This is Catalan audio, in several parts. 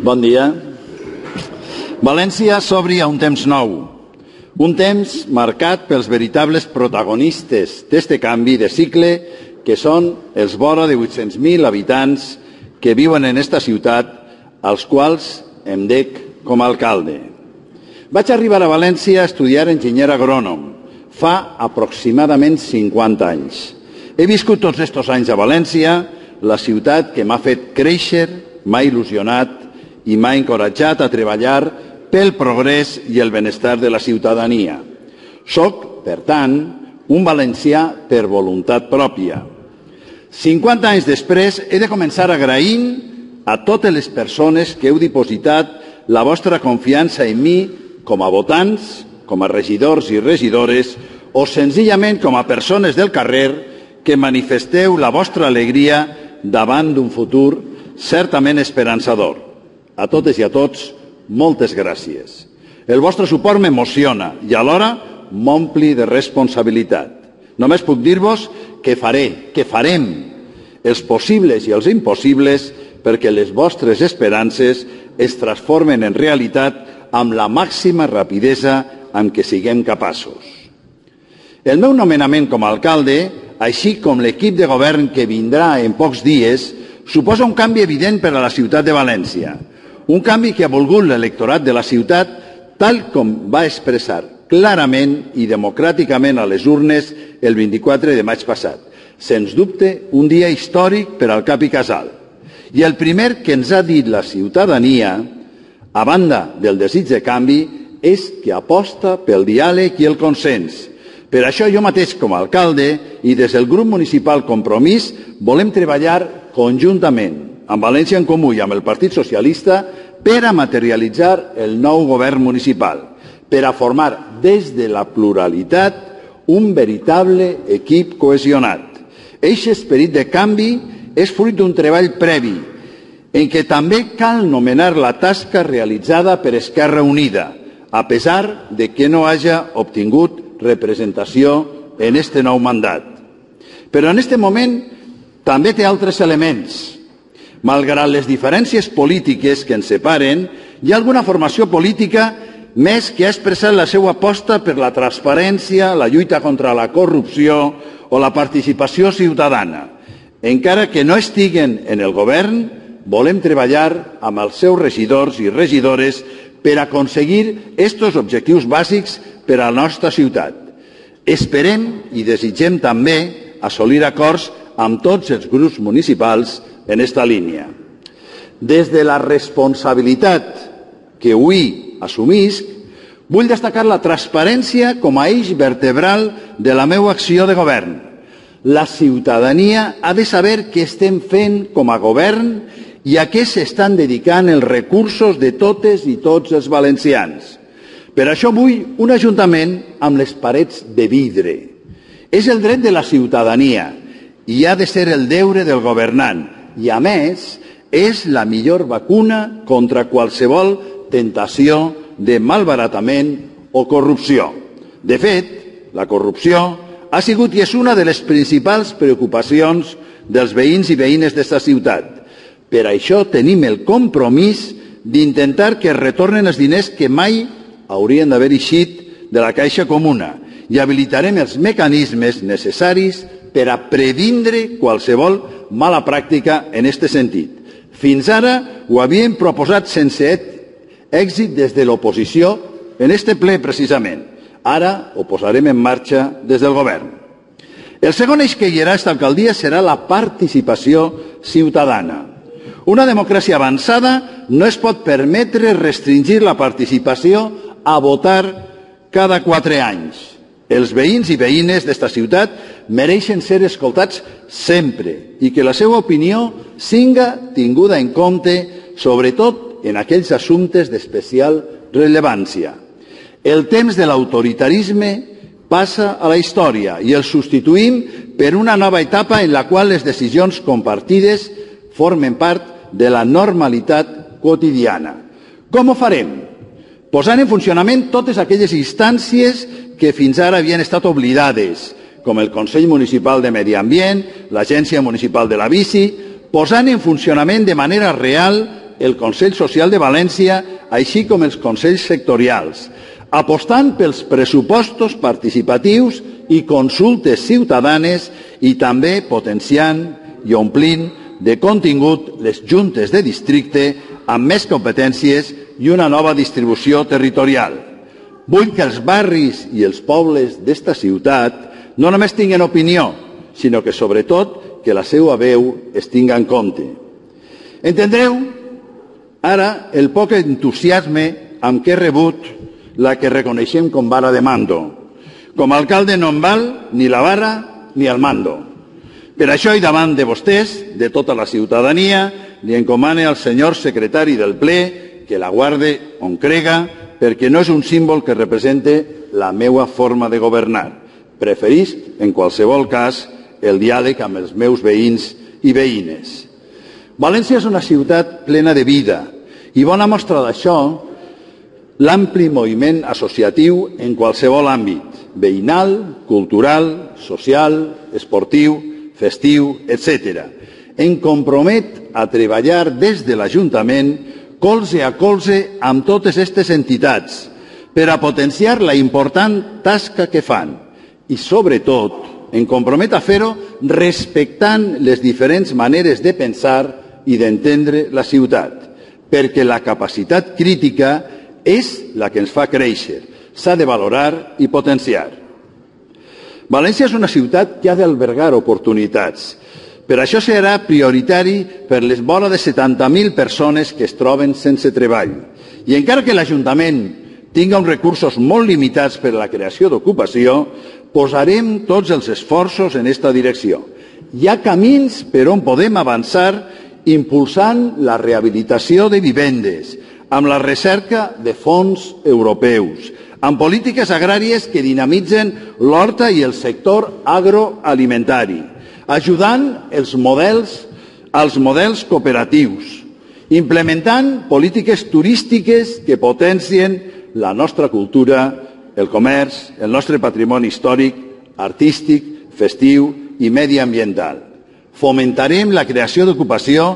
Bon dia. València s'obri a un temps nou, un temps marcat pels veritables protagonistes d'este canvi de cicle que són els vora de 800.000 habitants que viuen en esta ciutat, als quals em dec com a alcalde. Vaig arribar a València a estudiar enginyer agrònom fa aproximadament 50 anys. He viscut tots estos anys a València, la ciutat que m'ha fet créixer, m'ha il·lusionat i m'ha encoratjat a treballar pel progrés i el benestar de la ciutadania. Soc, per tant, un valencià per voluntat pròpia. 50 anys després he de començar agraint a totes les persones que heu dipositat la vostra confiança en mi com a votants, com a regidors i regidores o senzillament com a persones del carrer que manifesteu la vostra alegria davant d'un futur certament esperançador. A totes i a tots, moltes gràcies. El vostre suport m'emociona i alhora m'ompli de responsabilitat. Només puc dir-vos que farem els possibles i els impossibles perquè les vostres esperances es transformen en realitat amb la màxima rapidesa amb què siguem capaços. El meu nomenament com a alcalde, així com l'equip de govern que vindrà en pocs dies, suposa un canvi evident per a la ciutat de València. Un canvi que ha volgut l'electorat de la ciutat tal com va expressar clarament i democràticament a les urnes el 24 de maig passat. Sens dubte, un dia històric per al cap i casal. I el primer que ens ha dit la ciutadania, a banda del desig de canvi, és que aposta pel diàleg i el consens. Per això jo mateix com a alcalde i des del grup municipal Compromís volem treballar conjuntament amb València en Comú i amb el Partit Socialista per a materialitzar el nou govern municipal, per a formar des de la pluralitat un veritable equip cohesionat. Eixe esperit de canvi és fruit d'un treball previ, en què també cal nomenar la tasca realitzada per Esquerra Unida, a pesar de que no haja obtingut representació en este nou mandat. Però en este moment també té altres elements. Malgrat les diferències polítiques que ens separen, hi ha alguna formació política més que ha expressat la seva aposta per la transparència, la lluita contra la corrupció o la participació ciutadana. Encara que no estiguen en el govern, volem treballar amb els seus regidors i regidores per aconseguir estos objectius bàsics per a la nostra ciutat. Esperem i desitgem també assolir acords amb tots els grups municipals en esta línia. Des de la responsabilitat que avui assumisc, vull destacar la transparència com a eix vertebral de la meva acció de govern. La ciutadania ha de saber què estem fent com a govern i a què s'estan dedicant els recursos de totes i tots els valencians. Per això vull un ajuntament amb les parets de vidre. És el dret de la ciutadania i ha de ser el deure del governant. I, a més, és la millor vacuna contra qualsevol tentació de malbaratament o corrupció. De fet, la corrupció ha sigut i és una de les principals preocupacions dels veïns i veïnes d'esta ciutat. Per això tenim el compromís d'intentar que es retornen els diners que mai haurien d'haver eixit de la Caixa Comuna i habilitarem els mecanismes necessaris per a previndre qualsevol mala pràctica en aquest sentit. Fins ara ho havíem proposat sense èxit des de l'oposició en este ple precisament. Ara ho posarem en marxa des del govern. El segon eix que guiarà aquesta alcaldia serà la participació ciutadana. Una democràcia avançada no es pot permetre restringir la participació a votar cada 4 anys. Els veïns i veïnes d'esta ciutat mereixen ser escoltats sempre i que la seva opinió siga tinguda en compte, sobretot en aquells assumptes d'especial rellevància. El temps de l'autoritarisme passa a la història i el substituïm per una nova etapa en la qual les decisions compartides formen part de la normalitat quotidiana. Com ho farem? Posant en funcionament totes aquelles instàncies que fins ara havien estat oblidades, com el Consell Municipal de Medi Ambient, l'Agència Municipal de la Bici, posant en funcionament de manera real el Consell Social de València, així com els consells sectorials, apostant pels pressupostos participatius i consultes ciutadanes i també potenciant i omplint de contingut les juntes de districte amb més competències i una nova distribució territorial. Vull que els barris i els pobles d'esta ciutat no només tinguin opinió, sinó que, sobretot, que la seva veu es tinga en compte. Entendreu ara el poc entusiasme amb què he rebut la que reconeixem com vara de mando. Com a alcalde no em val ni la vara ni el mando. Per això, i davant de vostès, de tota la ciutadania, li encomane al senyor secretari del ple que la guarde on crega, perquè no és un símbol que represente la meva forma de governar. Preferisc, en qualsevol cas, el diàleg amb els meus veïns i veïnes. València és una ciutat plena de vida i bona mostra d'això l'ampli moviment associatiu en qualsevol àmbit, veïnal, cultural, social, esportiu, festiu, etc. Em compromet a treballar des de l'Ajuntament colze a colze amb totes aquestes entitats per a potenciar la important tasca que fan i, sobretot, em compromet a fer-ho respectant les diferents maneres de pensar i d'entendre la ciutat, perquè la capacitat crítica és la que ens fa créixer, s'ha de valorar i potenciar. València és una ciutat que ha d'albergar oportunitats. Per això serà prioritari per les vora de 70.000 persones que es troben sense treball. I encara que l'Ajuntament tinga uns recursos molt limitats per a la creació d'ocupació, posarem tots els esforços en aquesta direcció. Hi ha camins per on podem avançar impulsant la rehabilitació de vivendes, amb la recerca de fons europeus, amb polítiques agràries que dinamitzen l'horta i el sector agroalimentari, ajudant als models cooperatius, implementant polítiques turístiques que potencien la nostra cultura, el comerç, el nostre patrimoni històric, artístic, festiu i mediambiental. Fomentarem la creació d'ocupació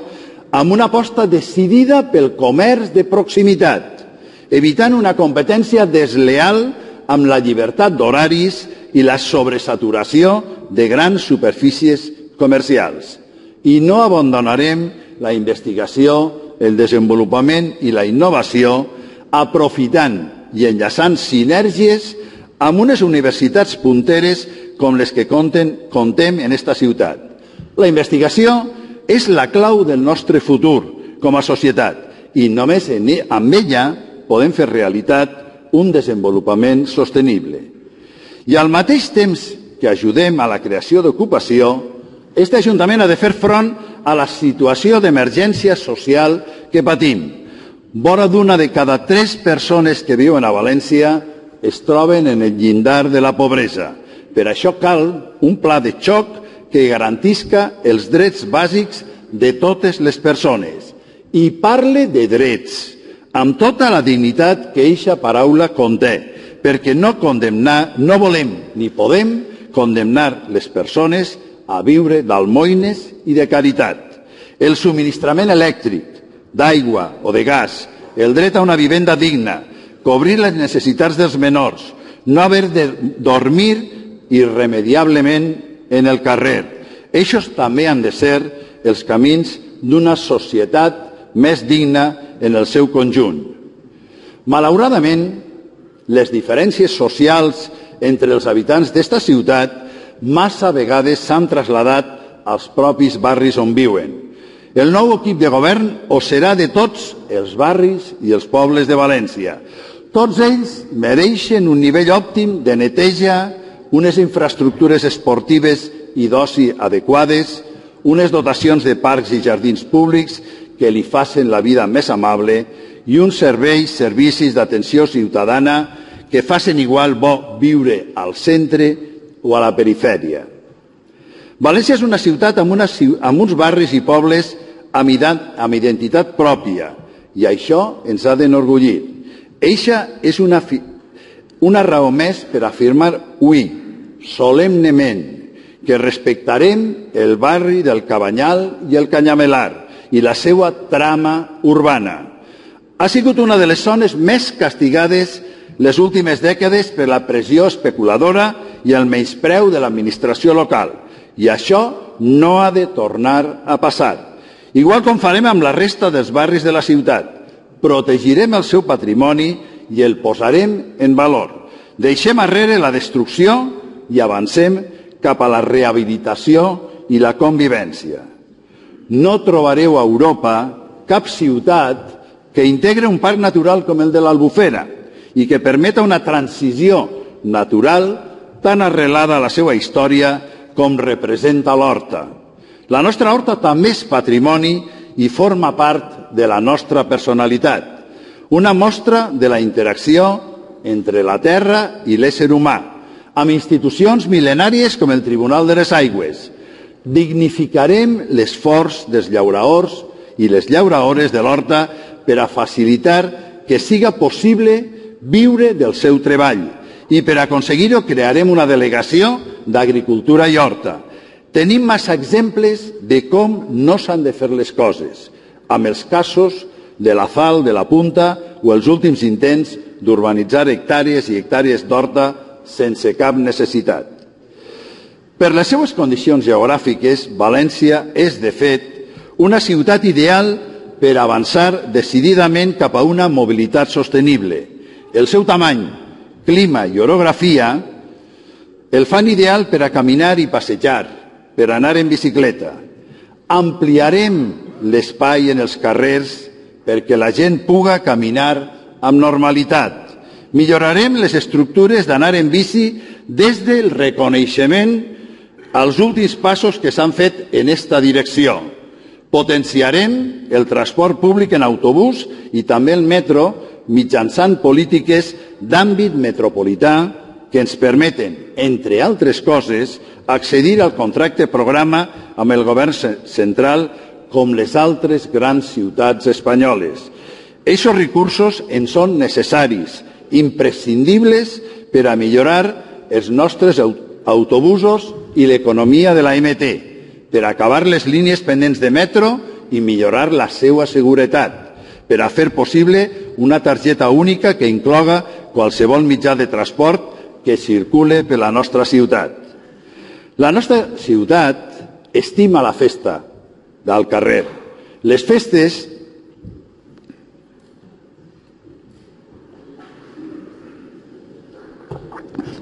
amb una aposta decidida pel comerç de proximitat, evitant una competència desleal amb la llibertat d'horaris i la sobresaturació de grans superfícies comercials. I no abandonarem la investigació, el desenvolupament i la innovació, aprofitant i enllaçant sinergies amb unes universitats punteres com les que contem en esta ciutat. La investigació és la clau del nostre futur com a societat i només amb ella podem fer realitat un desenvolupament sostenible. I al mateix temps que ajudem a la creació d'ocupació, aquest Ajuntament ha de fer front a la situació d'emergència social que patim. Vora d'una de cada 3 persones que viuen a València es troben en el llindar de la pobresa. Per això cal un pla de xoc que garantisca els drets bàsics de totes les persones. I parle de drets, amb tota la dignitat que eixa paraula conté, perquè no volem ni podem condemnar les persones a viure d'almoines i de caritat. El subministrament elèctric, d'aigua o de gas, el dret a una vivenda digna, cobrir les necessitats dels menors, no haver de dormir irremediablement en el carrer. Eixos també han de ser els camins d'una societat més digna en el seu conjunt. Malauradament, les diferències socials entre els habitants d'esta ciutat massa vegades s'han traslladat als propis barris on viuen. El nou equip de govern ho serà de tots els barris i els pobles de València. Tots ells mereixen un nivell òptim de neteja, unes infraestructures esportives i d'oci adequades, unes dotacions de parcs i jardins públics que li facin la vida més amable i uns servicis d'atenció ciutadana que facin igual bo viure al centre o a la perifèria. València és una ciutat amb uns barris i pobles amb identitat pròpia i això ens ha d'enorgullir. Eixa és una raó més per afirmar avui, solemnement, que respectarem el barri del Cabanyal i el Canyamelar i la seva trama urbana. Ha sigut una de les zones més castigades les últimes dècades per la pressió especuladora i el menyspreu de l'administració local. I això no ha de tornar a passar. Igual com farem amb la resta dels barris de la ciutat. Protegirem el seu patrimoni i el posarem en valor. Deixem arrere la destrucció i avancem cap a la rehabilitació i la convivència. No trobareu a Europa cap ciutat que integre un parc natural com el de l'Albufera i que permeta una transició natural tan arrelada a la seva història com representa l'Horta. La nostra Horta també és patrimoni i forma part de la nostra personalitat, una mostra de la interacció entre la terra i l'ésser humà, amb institucions mil·lenàries com el Tribunal de les Aigües. Dignificarem l'esforç dels llauraors i les llauraores de l'Horta per a facilitar que siga possible viure del seu treball i per aconseguir-ho crearem una delegació d'Agricultura i Horta. Tenim massa exemples de com no s'han de fer les coses, amb els casos de la Fal, de la Punta o els últims intents d'urbanitzar hectàrees i hectàrees d'horta sense cap necessitat. Per les seues condicions geogràfiques, València és, de fet, una ciutat ideal per avançar decididament cap a una mobilitat sostenible. El seu tamany, clima i orografia el fan ideal per a caminar i passejar, per anar en bicicleta. Ampliarem l'espai en els carrers perquè la gent puga caminar amb normalitat. Millorarem les estructures d'anar en bici des del reconeixement als últims passos que s'han fet en esta direcció. Potenciarem el transport públic en autobús i també el metro mitjançant polítiques d'àmbit metropolità que ens permeten, entre altres coses, accedir al contracte programa amb el govern central com les altres grans ciutats espanyoles. Aquests recursos ens són necessaris, imprescindibles per a millorar els nostres autobusos i l'economia de la MT, per acabar les línies pendents de metro i millorar la seva seguretat, per a fer possible una targeta única que incloga qualsevol mitjà de transport que circule per la nostra ciutat. La nostra ciutat estima la festa del carrer. Les festes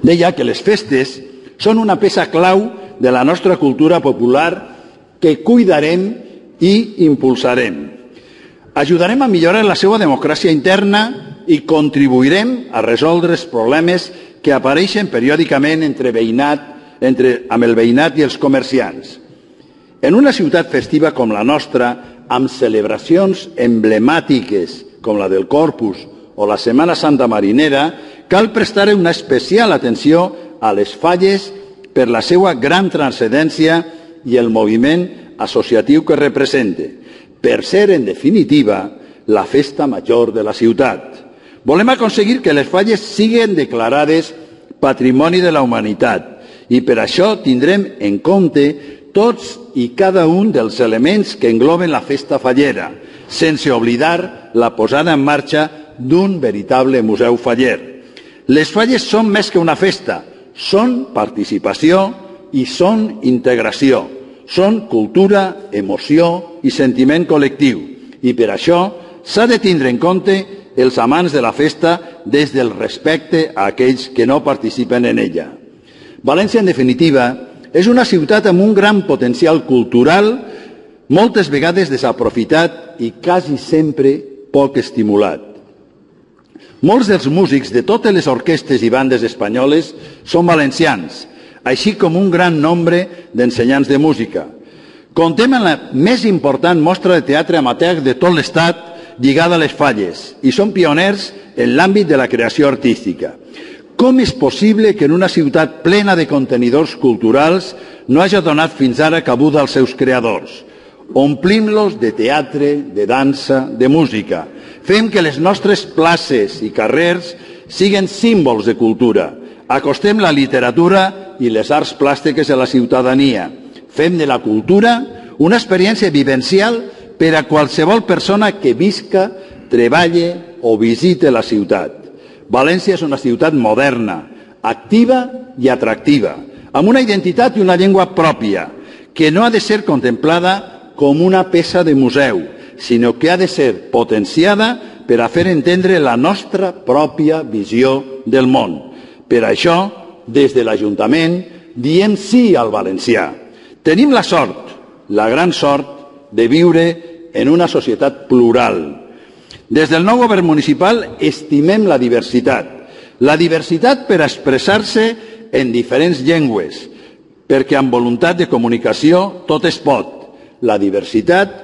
deia que les festes són una peça clau de la nostra cultura popular que cuidarem i impulsarem. Ajudarem a millorar la seva democràcia interna i contribuirem a resoldre els problemes que apareixen periòdicament amb el veïnat i els comerciants. En una ciutat festiva com la nostra, amb celebracions emblemàtiques com la del Corpus o la Setmana Santa Marinera, cal prestar una especial atenció a les falles per la seva gran transcendència i el moviment associatiu que representa, per ser, en definitiva, la festa major de la ciutat. Volem aconseguir que les falles siguin declarades Patrimoni de la Humanitat i per això tindrem en compte tots i cada un dels elements que engloben la festa fallera, sense oblidar la posada en marxa d'un veritable museu faller. Les falles són més que una festa, són participació i són integració, són cultura, emoció i sentiment col·lectiu. I per això s'ha de tindre en compte els amants de la festa des del respecte a aquells que no participen en ella. València, en definitiva, és una ciutat amb un gran potencial cultural, moltes vegades desaprofitat i quasi sempre poc estimulat. Molts dels músics de totes les orquestres i bandes espanyoles són valencians, així com un gran nombre d'ensenyants de música. Contem amb la més important mostra de teatre amateur de tot l'Estat lligada a les falles i són pioners en l'àmbit de la creació artística. Com és possible que en una ciutat plena de contenidors culturals no hagi donat fins ara cabuda als seus creadors? Omplim-los de teatre, de dansa, de música. Fem que les nostres places i carrers siguin símbols de cultura. Acostem la literatura i les arts plàstiques a la ciutadania. Fem de la cultura una experiència vivencial per a qualsevol persona que visca, treballe o visite la ciutat. València és una ciutat moderna, activa i atractiva, amb una identitat i una llengua pròpia, que no ha de ser contemplada com una peça de museu, sinó que ha de ser potenciada per a fer entendre la nostra pròpia visió del món. Per això, des de l'Ajuntament, diem sí al valencià. Tenim la sort, la gran sort, de viure en una societat plural. Des del nou govern municipal estimem la diversitat per expressar-se en diferents llengües, perquè amb voluntat de comunicació tot es pot. La diversitat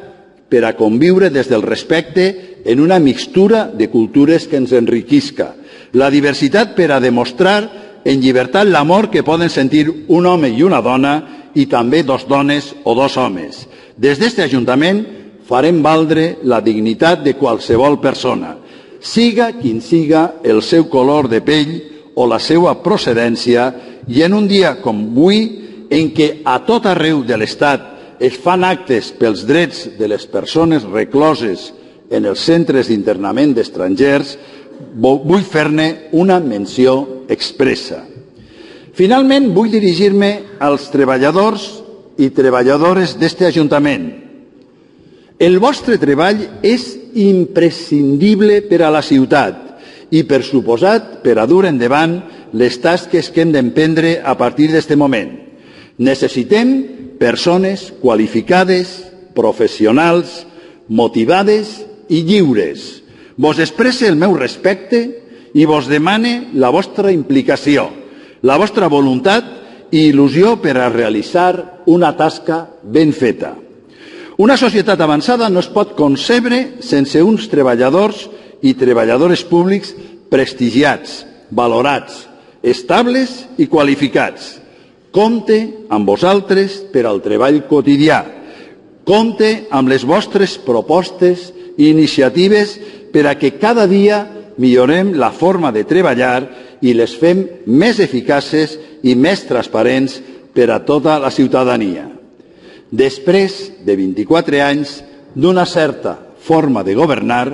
per a conviure des del respecte en una mixtura de cultures que ens enriquisca. La diversitat per a demostrar en llibertat l'amor que poden sentir un home i una dona i també dos dones o dos homes. Des d'aquest Ajuntament farem valdre la dignitat de qualsevol persona, siga quin siga el seu color de pell o la seva procedència, i en un dia com avui, en què a tot arreu de l'Estat es fan actes pels drets de les persones recloses en els centres d'internament d'estrangers, vull fer-ne una menció expressa. Finalment, vull dirigir-me als treballadors i treballadores d'aquest Ajuntament. El vostre treball és imprescindible per a la ciutat i, per suposat, per a dur endavant les tasques que hem d'emprendre a partir d'aquest moment. Necessitem persones qualificades, professionals, motivades i lliures. Vos expresse el meu respecte i vos demane la vostra implicació, la vostra voluntat i il·lusió per a realitzar una tasca ben feta. Una societat avançada no es pot concebre sense uns treballadors i treballadores públics prestigiats, valorats, estables i qualificats. Compte amb vosaltres per al treball quotidià. Compte amb les vostres propostes i iniciatives per a que cada dia millorem la forma de treballar i les fem més eficaces i més transparents per a tota la ciutadania. Després de 24 anys d'una certa forma de governar,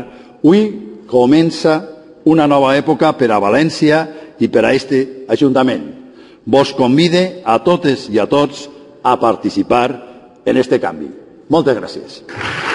avui comença una nova època per a València i per a aquest Ajuntament. Vos convide a totes i a tots a participar en aquest canvi. Moltes gràcies.